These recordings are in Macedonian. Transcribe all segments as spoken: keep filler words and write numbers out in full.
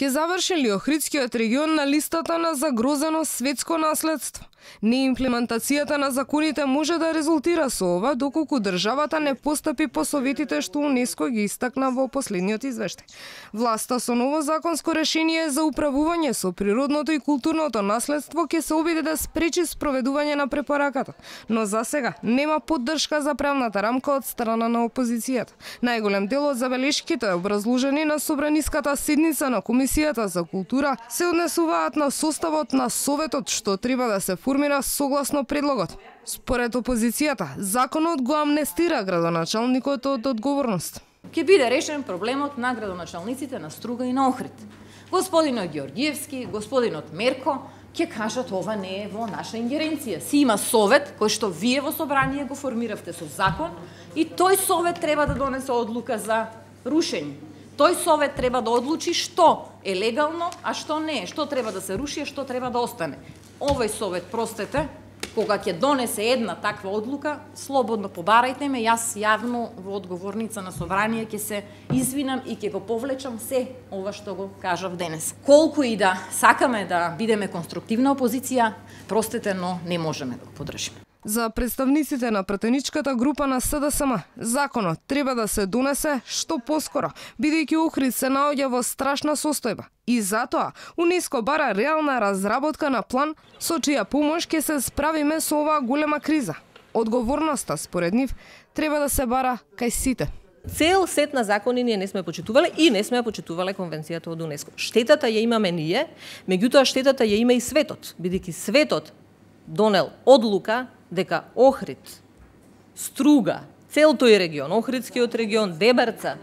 Ке заврши ли Охридскиот регион на листата на загрозено светско наследство? Неимплементацијата на законите може да резултира со ова, доколку државата не постапи по советите што УНЕСКО ги истакна во последниот извештај. Власта со ново законско решение за управување со природното и културното наследство ќе се обиде да спречи спроведување на препораката, но за сега нема поддршка за правната рамка од страна на опозицијата. Најголем дел од забелешките образложени на собраниската седница на Комисијата за култура се однесуваат на составот на Советот што треба да се формира согласно предлогот. Според опозицијата, законот го амнестира градоначалникот од одговорност. Ќе биде решен проблемот на градоначалниците на Струга и на Охрид. Господинот Ѓорѓиевски, господинот Мерко ќе кажат ова не е во наша ингеренција. Си има совет кој што вие во собрание го формиравте со закон и тој совет треба да донесе одлука за рушење. Тој совет треба да одлучи што е легално, а што не е, што треба да се руши, а што треба да остане. Овој совет, простете, кога ќе донесе една таква одлука, слободно побарајте ме, јас јавно во одговорница на собрание ќе се извинам и ќе го повлечам се ова што го кажав денес. Колку и да сакаме да бидеме конструктивна опозиција, простете, но не можеме да го поддржиме. За представниците на пратеничката група на СДСМ, законот треба да се донесе што поскоро, бидејќи Охрид се наоѓа во страшна состојба. И затоа УНЕСКО бара реална разработка на план со чија помош ќе се справиме со оваа голема криза. Одговорноста, според нив, треба да се бара кај сите. Цел сет на закони ние не сме почитувале и не сме почитувале конвенцијата од УНЕСКО. Штетата ја имаме ние, меѓутоа штетата ја има и светот, бидејќи светот донел одлука дека Охрид, Струга, цел тој регион, Охридскиот регион, Дебарца,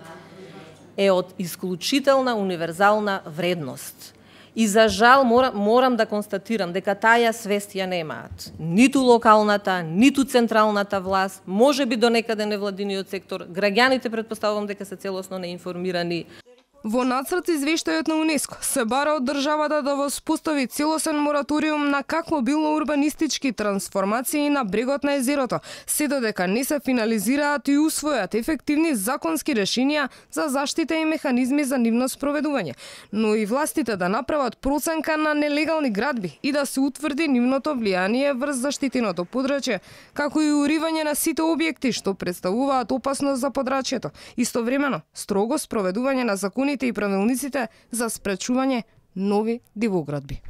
е од исклучителна универзална вредност. И за жал морам, морам да констатирам дека таја свест ја немаат. Ниту локалната, ниту централната власт, може би до некаде невладиниот сектор, граѓаните претпоставувам дека се целосно неинформирани. Во нацрт извештајот на УНЕСКО се бара од државата да воспостави целосен мораториум на какво било урбанистички трансформации на брегот на езерото, се додека не се финализираат и усвојат ефективни законски решенија за заштита и механизми за нивно спроведување, но и властите да направат проценка на нелегални градби и да се утврди нивното влијание врз заштитеното подрачје, како и уривање на сите објекти што представуваат опасност за подрачјето, истовремено строго спроведување на законите и правилниците за спречување нови дивоградби.